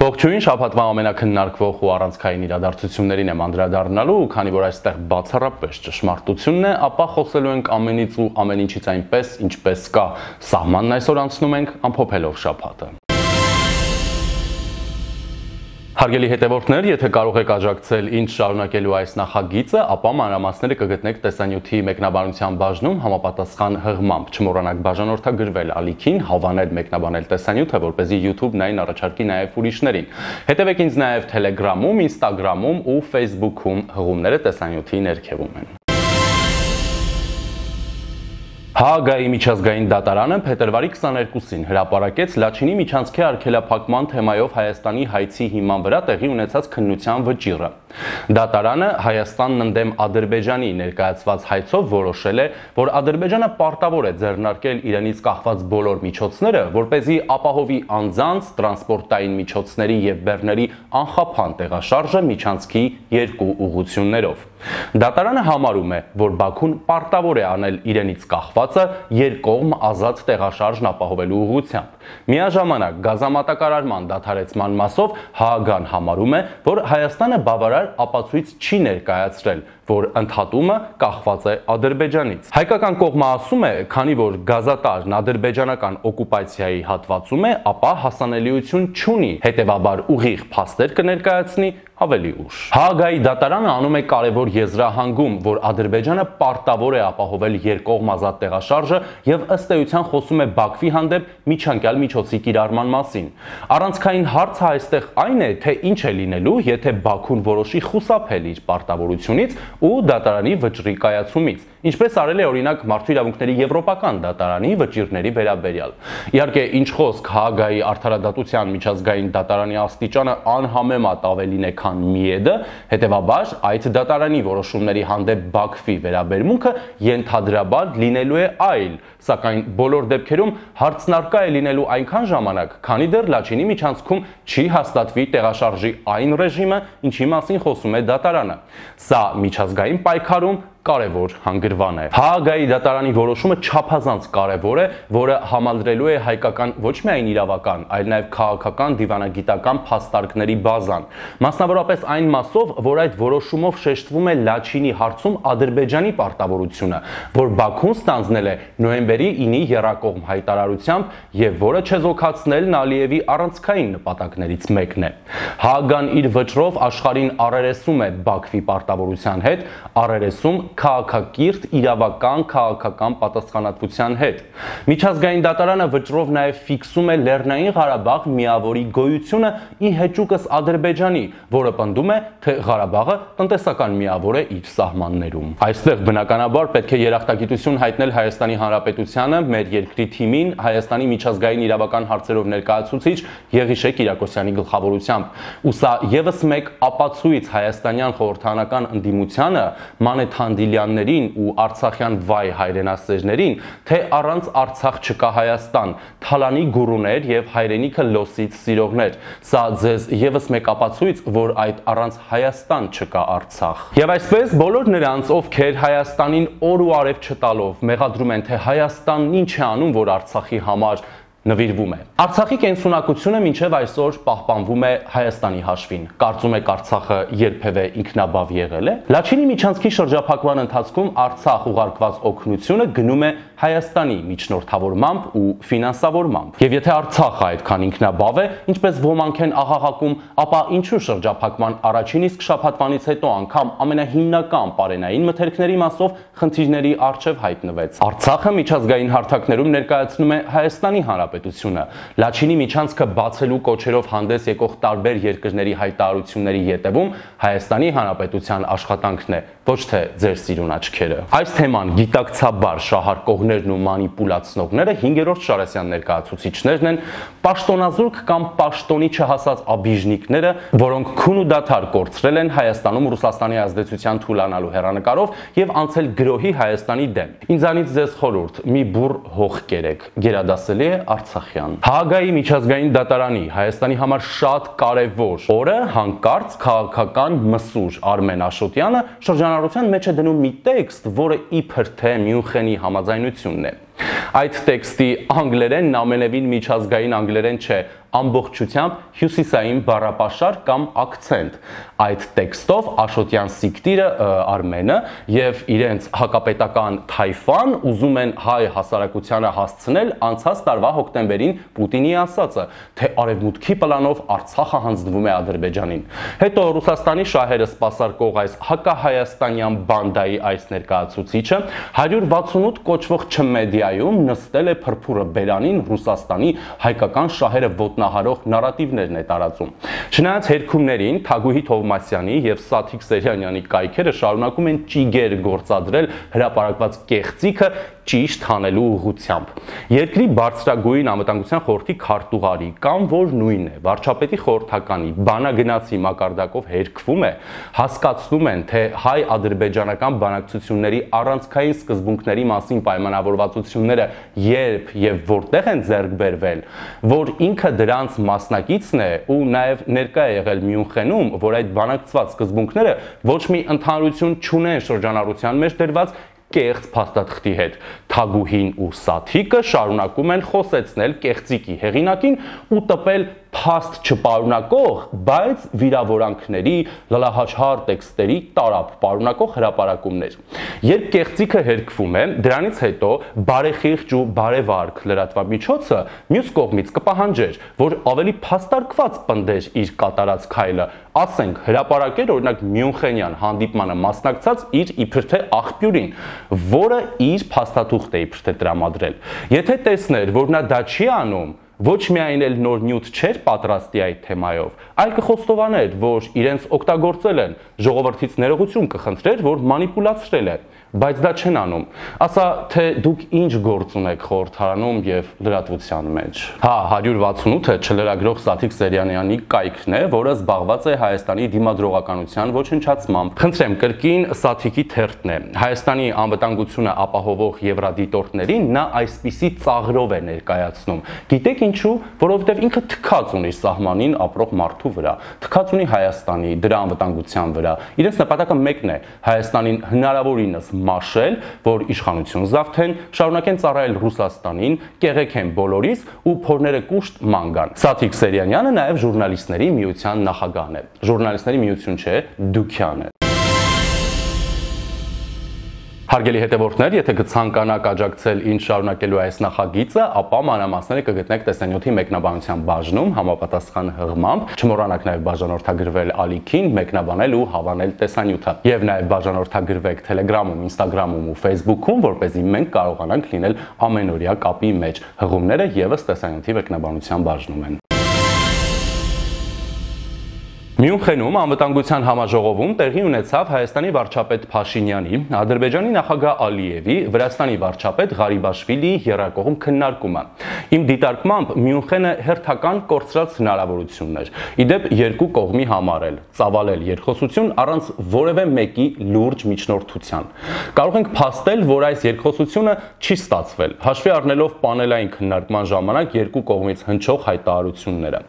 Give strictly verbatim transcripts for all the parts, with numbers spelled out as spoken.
Ողջույն, շաբաթվա ամենաքննարկվող ու առանցքային իրադարձություններին եմ անդրադառնալու, քանի որ այստեղ բացառապես ճշմարտությունն է, ապա խոսելու ենք ամենից ու ամեն ինչից այնպես, ինչպես կա։ Սահմանն այսօր անցնում ենք ամփոփելով շաբաթը։ Հարգելի հետևորդներ, եթե կարող եք աջակցել ինձ շարունակելու այս նախագիծը, ապա մանրամասները կգտնեք տեսանյութի մեկնաբանության բաժնում համապատասխան հղմամբ։ Չմոռանաք բաժանորդագրվել ալիքին, հավանել մեկնաբանել տեսանյութը, որպեսզի YouTube-ն այն առաջարկի նաև ուրիշներին։ Հետևեք ինձ նաև Telegram-ում, Instagram-ում ու Facebook-ում, հղումները տեսանյութի ներքևում են։ Հաագայի միջազգային դատարանը փետրվարի քսաներկուսին հրապարակեց Լաչինի միջանցքի արգելափակման թեմայով Հայաստանի հայցի հիման վրա տեղի ունեցած քննության վճիռը։ Դատարանը Հայաստանն ընդդեմ Ադրբեջանի ներկայացված հայցով որոշել է, որ Ադրբեջանը պարտավոր է ձեռնարկել իրենից կախված բոլոր միջոցները, որպեսզի ապահովի անձանց, տրանսպորտային միջոցների և բեռների անխափան տեղաշարժը միջանցքի երկու ուղղություններով։ Դատարանը համարում է, որ Բաքուն պարտավոր է անել իրենից կախվածը երկկողմ ազատ տեղաշարժն ապահովելու ուղղությամբ։ Միաժամանակ գազամատակարարման դադարեցման մասով Հաագան համարում է, որ Հայաստանը բավարար ապացույց չի ներկայացրել, որ ընդհատումը կախված է Ադրբեջանից։ Հայկական կողմը ասում է, քանի որ գազատարն ադրբեջանական օկուպացիայի հատվածում է, ապա հասանելիություն չունի, հետևաբար ուղիղ փաստեր կներկայացնի ավելի ուշ։ Հաագայի դատարանը անում է կարևոր եզրահանգում, որ Ադրբեջանը պարտավոր է ապահովել երկկողմ ազատ տեղաշարժը եւ ըստ էության խոսում է Բաքվի հանդեպ միջանկյալ միջոցի կիրառման մասին։ Առանցքային հարցը այստեղ այն է, թե ինչ է լինելու, եթե Բաքուն որոշի խուսափել իր պարտավորությունից ու դատարանի վճռի կայացումից, ինչպես արել է օրինակ Մարդու իրավունքների եվրոպական դատարանի վճիռների վերաբերյալ։ Իհարկե, ինչ խոսք, Հաագայի արդարադատության միջազգային դատարանի աստիճանը անհամեմատ ավելին է քան Միեդը, հետևաբար այդ դատարանի որոշումների հանդեպ Բաքվի վերաբերմունքը ենթադրաբար լինելու է այլ, սակայն բոլոր դեպքերում հարցնարկա է լինելու այնքան ժամանակ, քանի դեռ Լաչինի միջանցքում չի հաստատվի տեղաշարժի այն ռեժիմը, ինչի մասին խոսում է դատարանը։ Սա միջազգային պայքարում կարևոր հանգրվան է։ Հաագայի դատարանի որոշումը չափազանց կարևոր է, որը համալրելու է հայկական ոչ միայն իրավական, այլ նաև քաղաքական դիվանագիտական փաստարկների բազան։ Մասնավորապես այն մասով, որ այդ որոշումով շեշտվում է Լաչինի հարցում Ադրբեջանի պարտավորությունը, որ Բաքուն ստանձնել է նոյեմբերի ինի եռակողմ հայտարարությամբ եւ որը չեզոքացնելն Ալիևի առանցքային նպատակներից մեկն է։ Հաագան իր վճռով աշխարհին առերեսում է Բաքվի պարտավորության հետ, առերեսում քաղաքակիրթ իրավական քաղաքական պատասխանատվության հետ։ Միջազգային դատարանը վճռով նաև ֆիքսում է Լեռնային Ղարաբաղ միավորի գոյությունը ի հեճուկս Ադրբեջանի, որը պնդում է, թե Ղարաբաղը տնտեսական միավոր է իր սահմաններում։ Այստեղ բնականաբար պետք է երախտագիտություն հայտնել Հայաստանի Հանրապետությանը, մեր երկրի թիմին, Հայաստանի միջազգային իրավական հարցերով ներկայացուցիչ Եղիշե Կիրակոսյանի գլխավորությամբ։ Ու սա եւս մեկ ապացույց հայաստանյան խորհրդարանական ընդդիմությանը, Մանեթ Հանդիլյաններին ու արցախյան վայ հայրենասերներին, թե առանց Արցախ չկա Հայաստան, թալանի գուրուներ եւ հայրենիքը լոսից սիրողներ։ Սա ձեզ եւս մեկ ապացույց, որ այդ առանց Հայաստան չկա Արցախ։ Եվ այսպես բոլոր նրանց, ովքեր Հայաստանին օր ու արև չտալով մեղադրում են, թե Հայաստանն ինչ է անում, որ Արցախի համար նվիրվում է։ Արցախի կենսունակությունը մինչև այսօր պահպանվում է Հայաստանի հաշվին։ Կարծում եք Արցախը երբևէ ինքնաբավ եղել է։ Լաչինի միջանցքի շրջափակման ընթացքում Արցախ ուղարկված օգնությունը գնում է Հայաստանի միջնորդավորմամբ ու ֆինանսավորմամբ։ Եվ եթե Արցախը այդքան ինքնաբավ է, ինչպես ոմանք են աղաղակում, ապա ինչու շրջափակման առաջին իսկ շաբաթվանից հետո անգամ ամենահիմնական պարենային մթերքների մասով խնդիրների առջև հայտնվեց։ Արցախը միջազգային հարթակներում ներկայացնում է Հայաստանի Հանրապետությունը։ Լաչինի միջանցքը բացելու կոչերով հանդես եկող տարբեր երկրների հայտարարությունների ետևում Հայաստանի Հանրապետության աշխատանքն է, ոչ թե ձեր սիրուն աչքերը։ Այս թեման գիտակցաբար շահարկողներն ու մանիպուլացնողները հինգերորդ Շարասյան ներկայացուցիչներն են, պաշտոնազուրկ կամ պաշտոնի չհասած աբիժնիկները, որոնք քուն ու դադար կորցրել են Հայաստանում Ռուսաստանի ազդեցության թուլանալու հեռանկարով եւ անցել գրոհի Հայաստանի դեմ։ Ինձանից ձեզ խորհուրդ՝ մի բուռ հող կերեք, գերադասելի է Արցախյան։ Հաագայի միջազգային դատարանի Հայաստանի համար շատ կարևոր օրը հանկարծ քաղաքական մսուր Արմեն Աշոտյանը շրջանառության մեջ է դնում մի տեքստ, որը իբր թե Մյունխենի համաձայնությունն է։ Այդ տեքստի անգլերենն ամենևին միջազգային անգլերեն չէ, ամբողջությամբ հյուսիսային բառապաշար կամ ակցենտ։ Այդ տեքստով Աշոտյան Սիկտիրը Արմենը եւ իրենց հակապետական Թայֆան ուզում են հայ հասարակությանը հասցնել անցած տարվա հոկտեմբերին Պուտինի ասածը, թե արևմուտքի պլանով Արցախը հանձնվում է Ադրբեջանին։ Հետո Ռուսաստանի շահերը սպասարկող այս հակահայաստանյան բանդայի այս ներկայացուցիչը հարյուր վաթսունութ կոչվող չմեդիայում նստել է փրփուրը բերանին Ռուսաստանի հայկական շահերը ոտնահարող նարատիվներն է տարածում։ Չնայած հերքումներին Թագուհի Թովմասյանի եւ Սաթիկ Սերյանյանի կայքերը շարունակում են ճիգեր գործադրել հրապարակված կեղծիքը ճիշտ հանելու ուղղությամբ։ Երկրի բարձրագույն անվտանգության խորհրդի քարտուղարի կամ որ նույնն է վարչապետի խորհրդականի բանագնացի մակարդակով հերքվում է, հասկացնում են, թե հայ-ադրբեջանական բանակցությունների առանցքային սկզբունքների մասին պայմանավորվածությունները երբ եւ որտեղ են ձեռք բերվել, որ ինքը դրանց մասնակիցն է ու նաեւ ներկա է եղել Մյունխենում, որ այդ բանակցված սկզբունքները ոչ մի ընդհանրություն չունեն շրջանառության մեջ դրված կեղծ փաստաթղթի հետ։ Թագուհին ու Սաթիկը շարունակում են խոսեցնել կեղծիկի հեղինակին ու տպել փաստ չպարունակող, բայց վիրավորանքների, լալահաչհար տեքստերի տարապ պարունակող հրապարակումներ։ Երբ կեղծիքը հերքվում է, դրանից հետո բարեխիղճ ու բարևարք լրատվամիջոցը մյուս կողմից կպահանջեր, որ ավելի փաստարկված պնդեր իր կատարած քայլը, ասենք հրապարակեր օրինակ Մյունխենյան հանդիպմանը մասնակցած իր իբր թե աղբյուրին, որը իր փաստաթուղթ է իբր թե տրամադրել։ Եթե տեսներ, որ նա դա չի անում, ոչ միայն էլ նոր նյութ չէր պատրաստի այդ թեմայով, այլ կխոստովաներ, որ իրենց օգտագործել են, ժողովրդից ներողություն կխնդրեր, որ մանիպուլացրել է, բայց դա չեն անում։ Ասա, թե դուք ինչ գործ ունեք խորհրդարանում եւ լրատվության մեջ։ Հա, հարյուր վաթսունութը չլրագրող Սաթիկ Սերյանյանի կայքն է, որը զբաղված է Հայաստանի դիմադրողականության ոչնչացմամբ։ Խնդրեմ, կրկին Սաթիկի թերթն է։ Հայաստանի անվտանգությունը ապահովող եվրադիտորդներին նա այսպիսի ծաղրով է ներկայացնում։ Գիտեք ինչու, որովհետև ինքը թքած ունի սահմանին ապրող մարդու վրա, թքած ունի Հայաստանի, դրա անվտանգության վրա։ Իրենց նպատակը մեկն է՝ Հայաստանին հնարավորինս մաշել, որ իշխանություն զավթեն, շարունակեն ծառայել Ռուսաստանին, կեղեքեն բոլորիս ու փորները կուշտ ման գան։ Սաթիկ Սերյանյանը նաև ժուրնալիստների միության նախագահն է։ Ժուրնալիստների միություն չէ, Դուքյան է։ Հարգելի հետևորդներ, եթե կցանկանաք աջակցել ինչ շարունակելու այս նախագիծը, ապա մանրամասները կգտնեք տեսանյութի մեկնաբանության բաժնում համապատասխան հղմամբ, չմոռանաք նաև բաժանորդագրվել ալիքին, մեկնաբանել ու հավանել տեսանյութը, եւ նաև բաժանորդագրվեք Telegram-ում, Instagram-ում ու Facebook-ում, որպեսզի մենք կարողանանք լինել ամենօրյա կապի մեջ։ Հղումները եւս տեսանյութի մեկնաբանության բաժնում են։ Մյունխենում անվտանգության համաժողովում տեղի ունեցավ Հայաստանի վարչապետ Փաշինյանի, Ադրբեջանի նախագահ Ալիևի, Վրաստանի վարչապետ Ղարիբաշվիլիի եռակողմ քննարկումը։ Իմ դիտարկմամբ Մյունխենը հերթական կորցրած հնարավորությունն էր։ Իդեպ երկու կողմի համար էլ ծավալել երկխոսություն առանց որևէ մեկի լուրջ միջնորդության։ Կարող ենք փաստել, որ այս երկխոսությունը չի ստացվել, հաշվի առնելով պանելային քննարկման ժամանակ երկու կողմից հնչող հայտարարությունները։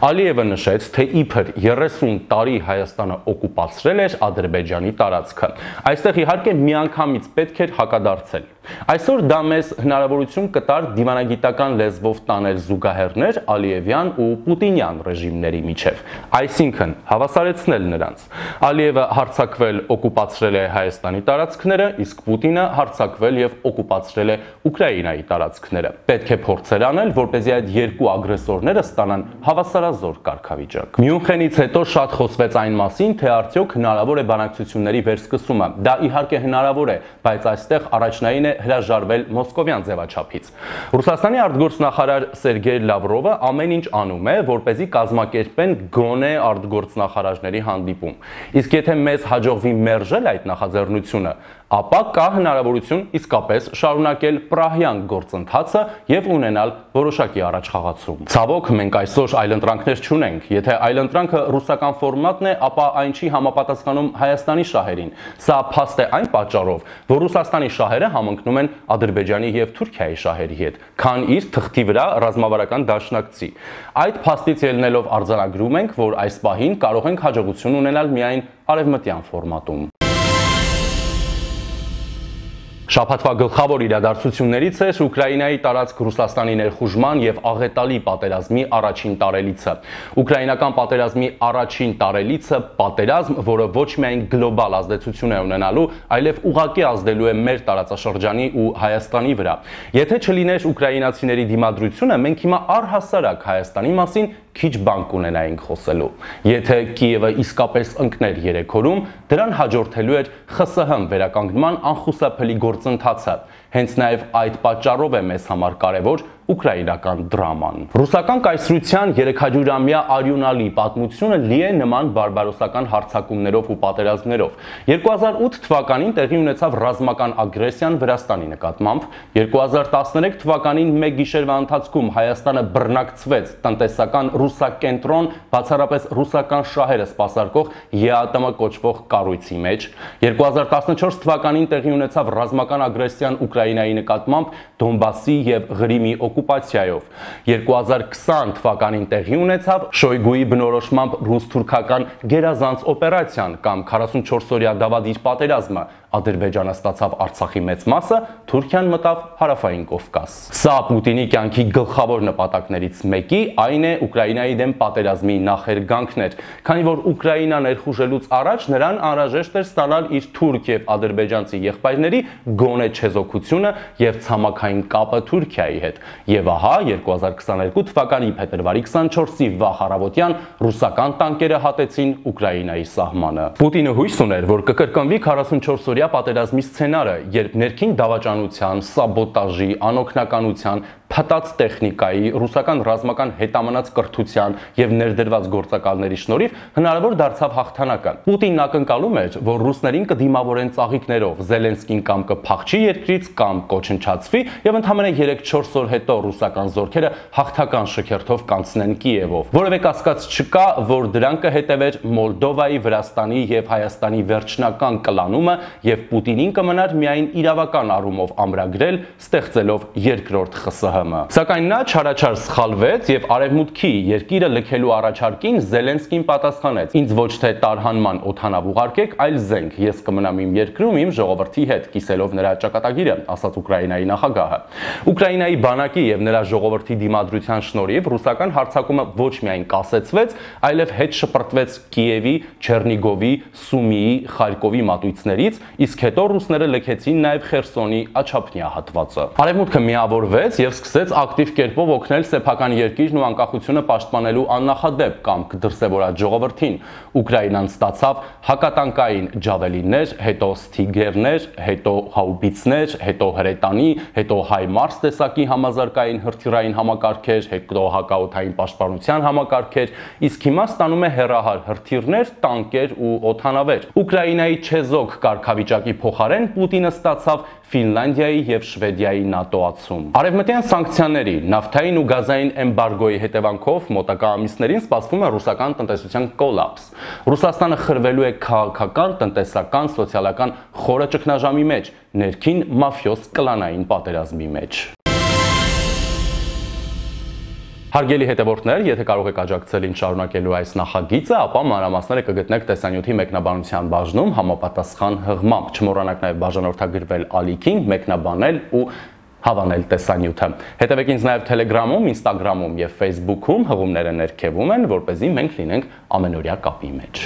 Ալիևը նշեց, թե իբր երեսուն տարի Հայաստանը օկուպացրել էր Ադրբեջանի տարածքը։ Այստեղ իհարկե միանգամից պետք էր հակադարձել։ Այսօր դա մեզ հնարավորություն կտար դիվանագիտական լեզվով տանել զուգահեռներ Ալիևյան ու Պուտինյան ռեժիմների միջև, այսինքն հավասարեցնել նրանց։ Ալիևը հարձակվել օկուպացրել է Հայաստանի տարածքները, իսկ Պուտինը հարձակվել եւ օկուպացրել է Ուկրաինայի տարածքները։ Պետք է փորձեր անել, որպեսզի այդ երկու ագրեսորները ստանան հավասարազոր կարգավիճակ։ Մյունխենից հետո շատ խոսվեց այն մասին, թե արդյոք հնարավոր է բանակցությունների վերսկսումը։ Դա իհարկե հնարավոր է, բայց այստեղ առաջնային է հրաժարվել մոսկովյան ձևաչափից։ Ռուսաստանի արտգործնախարար Սերգեյ Լավրովը ամեն ինչ անում է, որպեսզի կազմակերպեն գոնե արտգործնախարարների հանդիպում։ Իսկ եթե մեզ հաջողվի մերժել այդ նախաձեռնությունը, ապա կա հնարավորություն իսկապես շարունակել պրահյան գործընթացը եւ ունենալ որոշակի առաջխաղացում։ Ցավոք, մենք այսօր այլընտրանքներ չունենք։ Եթե այլընտրանքը ռուսական ֆորմատն է, ապա այն չի համապատասխանում Հայաստանի շահերին։ Սա փաստ է այն պատճառով, որ Ռուսաստանի շահերը համընկնում են Ադրբեջանի եւ Թուրքիայի շահերի հետ, քան իր թղթի վրա ռազմավարական դաշնակցի։ Այդ փաստից ելնելով արձանագրում ենք, որ այս պահին կարող ենք հաջողություն ունենալ միայն արևմտյան ֆորմատում։ Շաբաթվա գլխավոր իրադարձություններից էր Ուկրաինայի տարածք Ռուսաստանի ներխուժման եւ աղետալի պատերազմի առաջին տարելիցը։ Ուկրաինական պատերազմի առաջին տարելիցը պատերազմ, որը ոչ միայն գլոբալ ազդեցություն է ունենալու, այլև ուղղակի ազդելու է մեր տարածաշրջանի ու Հայաստանի վրա։ Եթե չլիներ ուկրաինացիների դիմադրությունը, մենք հիմա առհասարակ Հայաստանի մասին քիչ բան կունենայինք խոսելու։ Եթե Կիևը իսկապես ընկներ երեք օրում, դրան հաջորդելու էր ԽՍՀՄ վերականգնման անխուսափելի գործընթացը։ Հենց նաև այդ պատճառով է մեզ համար կարևոր ուկրաինական դրաման։ Ռուսական կայսրության երեքհաջորդամյա արյունալի պատմությունը լի է նման բարբարոսական հարձակումներով ու պատերազմներով։ երկու հազար ութ թվականին տեղի ունեցավ ռազմական ագրեսիան Վրաստանի նկատմամբ, երկու հազար տասներեք թվականին մեկ գիշերվա ընթացքում Հայաստանը բռնակցվեց տնտեսական ռուսակենտրոն, բացառապես ռուսական շահերը սպասարկող ԵԱՏՄ կոչվող կառույցի մեջ, երկու հազար տասնչորս թվականին տեղի ունեցավ ռազմական ագրեսիան Ուկրաինայի նկատմամբ Դոնբասի եւ Ղրիմի օկուպացիայով, երկու հազար քսան թվականին տեղի ունեցավ Շոյգուի բնորոշմամբ ռուս-թուրքական գերազանց օպերացիան կամ քառասունչորս օրյա դավադիր պատերազմը, Ադրբեջանը ստացավ Արցախի մեծ մասը, Թուրքիան մտավ Հարավային Կովկաս։ Սա Պուտինի կյանքի գլխավոր նպատակներից մեկի, այն է Ուկրաինայի դեմ պատերազմի նախերգանքն էր, քանի որ Ուկրաինան ներխուժելուց առաջ նրան անհրաժեշտ էր ստանալ իր թուրք եւ ադրբեջանցի եղբայրների գոնե չեզոքությունը եւ ցամաքային կապը Թուրքիայի հետ։ Եվ ահա երկու հազար քսաներկու թվականի փետրվարի քսանչորսի վաղ առավոտյան ռուսական տանկերը հատեցին Ուկրաինայի սահմանը։ Պուտինը հույս ուներ, որ կկրկնվի քառասունչորս օրյա պատերազմի սցենարը, երբ ներքին դավաճանության, սաբոտաժի, անօգնականության, փտած տեխնիկայի, ռուսական ռազմական հետամնաց կրթության եւ ներդրված գործակալների շնորհիվ հնարավոր դարձավ հաղթանակը։ Պուտինն ակնկալում էր, որ ռուսներին կդիմավորեն ծաղիկներով, Զելենսկին կամ կփախչի երկրից կամ կոչնչացվի եւ ընդամենը երեք-չորս օր հետո ռուսական զորքերը հաղթական շքերթով կանցնեն Կիևով։ Որևէ կասկած չկա, որ դրան կհետևեր Մոլդովայի, Վրաստանի եւ Հայաստանի վերջնական կլանումը եւ Պուտինին կմնար միայն իրավական առումով ամրագրել, ստեղծելով երկրորդ ԽՍՀՄ։ Սակայն նա չարաչար սխալվեց եւ արևմուտքի երկիրը լքելու առաջարկին Զելենսկին պատասխանեց. Ինձ ոչ թե տարհանման օդանավ ուղարկեք, այլ զենք, ես կմնամ իմ երկրում իմ ժողովրդի հետ, կիսելով նրա ճակատագիրը, ասաց Ուկրաինայի նախագահը։ Ուկրաինայի բանակի եւ նրա ժողովրդի դիմադրության շնորհիվ ռուսական հարձակումը ոչ միայն կասեցվեց, այլև հետ շպրտվեց Կիևի, Չեռնիգովի, Սումիի, Խարկովի մատույցներից, իսկ հետո ռուսները լքեցին նաեւ Խերսոնի աչափնյա հատվածը։ Արևմուտքը միավորվեց եւ սկսեց ակտիվ կերպով օգնել սեփական երկիրն ու անկախությունը պաշտպանելու աննախադեպ կամք դրսևորած ժողովրդին։ Ուկրաինան ստացավ հակատանկային ջավելիններ, հետո Սթիգերներ, հետո հաուբիցներ, հետո հրետանի, հետո Հայմարս տեսակի համազարգային հրթիռային համակարգեր, հետո հակաօդային պաշտպանության համակարգեր, իսկ հիմա ստանում է հեռահար հրթիռներ, տանկեր ու օդանավեր։ Ուկրաինայի չեզոք կարգավիճակի փոխարեն Պուտինը ստացավ Ֆինլանդիայի եւ Շվեդիայի նատոացում։ Արևմտյան սանկցիաների, նավթային ու գազային էմբարգոյի հետևանքով մոտակա ամիսներին սպասվում է ռուսական տնտեսության կոլապս։ Ռուսաստանը խրվելու է քաղաքական, տնտեսական, սոցիալական խորը ճգնաժամի մեջ, ներքին մաֆիոզ կլանային պատերազմի մեջ։ Հարգելի հետևորդներ, եթե կարող եք աջակցել ինձ շարունակելու այս նախագիծը, ապա մանրամասները կգտնեք տեսանյութի մեկնաբանության բաժնում համապատասխան հղմամբ։ Չմոռանաք նաև բաժանորդագրվել ալիքին, մեկնաբանել ու հավանել տեսանյութը։ Հետևեք ինձ նաև Telegram-ում, Instagram-ում եւ Facebook-ում, հղումները ներքևում են, որպեսզի մենք լինենք ամենօրյա կապի մեջ։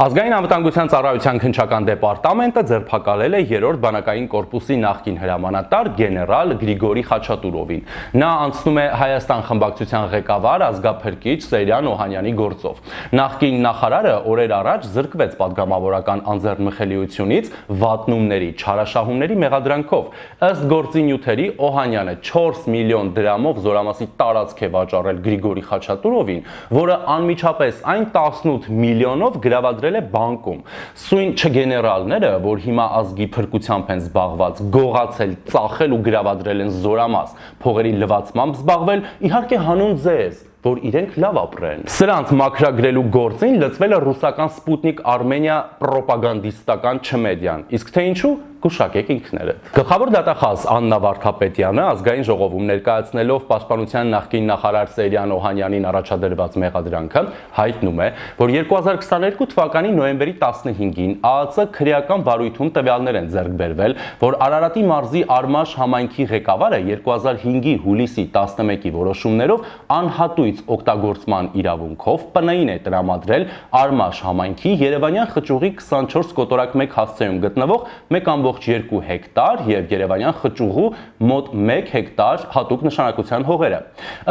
Ազգային անվտանգության ծառայության քննչական դեպարտամենտը ձերբակալել է երրորդ բանակային կորպուսի նախկին հրամանատար գեներալ Գրիգորի Խաչատուրովին։ Նա անցնում է Հայաստան խմբակցության ղեկավար ազգափրկիչ Սեյրան Օհանյանի գործով։ Նախկին նախարարը օրեր առաջ զրկվեց պատգամավորական անձեռնմխելիությունից վատնումների, չարաշահումների մեղադրանքով։ Ըստ գործի նյութերի Օհանյանը չորս միլիոն դրամով զորամասի տարածք է վաճառել Գրիգորի Խաչատուրովին, որը անմիջապես այն տասնութ միլիոնով գրավադրել է բանկում։ Սույն չգեներալները, որ հիմա ազգի փրկությամբ են զբաղված, գողացել, ծախել ու գրավադրել են զորամաս, փողերի լվացմամբ զբաղվել, իհարկե հանուն ձեզ, որ իրենք լավ ապրեն։ Սրանց մաքրագրելու գործին լծվել է ռուսական Սպուտնիկ Արմենիա պրոպագանդիստական չմեդիան։ Իսկ թե ինչու, գուշակեք ինքներդ։ Գլխավոր դատախազ Աննա Վարդապետյանը ազգային ժողովում ներկայացնելով Պաշտպանության նախկին նախարար Սերյան Օհանյանին առաջադրված մեղադրանքը հայտնում է, որ երկու հազար քսաներկու թվականի նոյեմբերի տասնհինգին ԱԱԾ քրեական վարույթում տվյալներ են ձեռք բերվել, որ Արարատի մարզի Արմաշ համայնքի ղեկավարը երկու հազար հինգի հուլիսի տասնմեկի որոշումներով անհատույց օգտագործման իրավունքով ՊՆ-ին է տրամադրել Արմաշ համայնքի Երևանյան խճուղի քսանչորս կոտորակ մեկ հասցեում գտնվող մեկ ամբողջ երկու հեկտար եւ Երևանյան խճուղու մոտ մեկ հեկտար հատուկ նշանակության հողերը։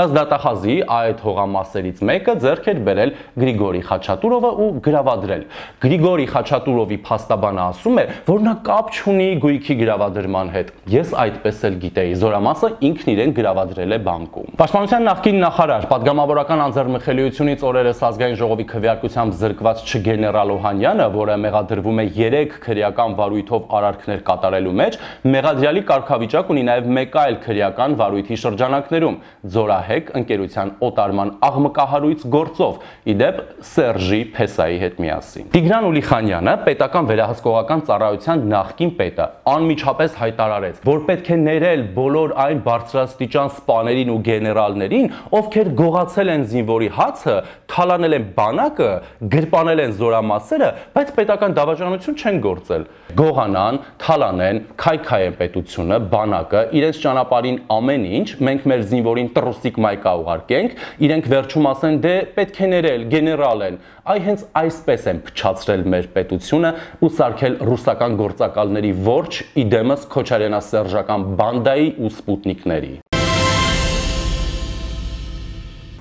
Ըստ դատախազի այդ հողամասերից մեկը ձեռք էր բերել Գրիգորի Խաչատուրովը ու գրավադրել։ Գրիգորի Խաչատուրովի փաստաբանը ասում է, որ նա կապ չունի գույքի գրավադրման հետ։ Ես այդպես էլ գիտեի, զորամասը ինքն իրեն գրավադրել է բանկում։ Պաշտպանության նախկին նախարար, պատգամավորական անձեռնմխելիությունից օրերս ազգային ժողովի քվեարկությամբ զրկված չգեներալ Օհանյանը, որը մեղադրվում է երեք քրեական վարույթով արարքներ կատարելու մեջ, մեղադրյալի կարգավիճակ ունի նաև մեկ այլ քրեական վարույթի շրջանակներում՝ Ձորահեկ ընկերության օտարման աղմկահարույց գործով, ի դեպ Սերժի Փեսայի հետ միասին։ Տիգրան Ուլիխանյանը, պետական վերահսկողական ծառայության նախկին պետը, անմիջապես հայտարարեց, որ պետք է ներել բոլոր այն բարձրաստիճան սպաներին ու գեներալներին, ովքեր գողացել են զինվորի հացը, թալանել են բանակը, գրպանել են զորամասերը, բայց պետական դավաճանություն չեն գործել։ Գողանան, թալանեն, քայքայեն պետությունը, բանակը, իրենց ճանապարհին ամեն ինչ, մենք մեր զինվորին տրուսիկ մայկա ուղարկենք, իրենք վերջում ասեն, դե պետք է ներել, գեներալ են։ Այ հենց այսպես են փչացրել մեր պետությունը ու սարքել ռուսական գործակալների ворջ իդեմս քոչարենասերժական բանդայի ու սպուտնիկների։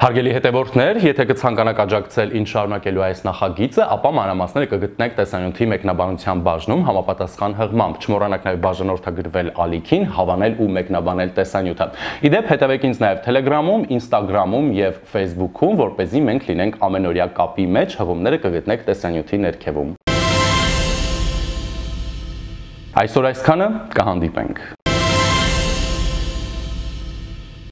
Հարգելի հետևորդներ, եթե կցանկանաք աջակցել ինչ շարունակելու այս նախագիծը, ապա մանրամասները կգտնեք տեսանյութի մեկնաբանության բաժնում համապատասխան հղմամբ։ Չմոռանաք նաև բաժանորդագրվել ալիքին, հավանել ու մեկնաբանել տեսանյութը։ Իդեպ հետևեք ինձ նաև Telegram-ում, Instagram-ում եւ Facebook-ում, որպեսզի մենք լինենք ամենօրյա կապի մեջ, հղումները կգտնեք տեսանյութի ներքևում։ Այսօր այսքանը, կհանդիպենք։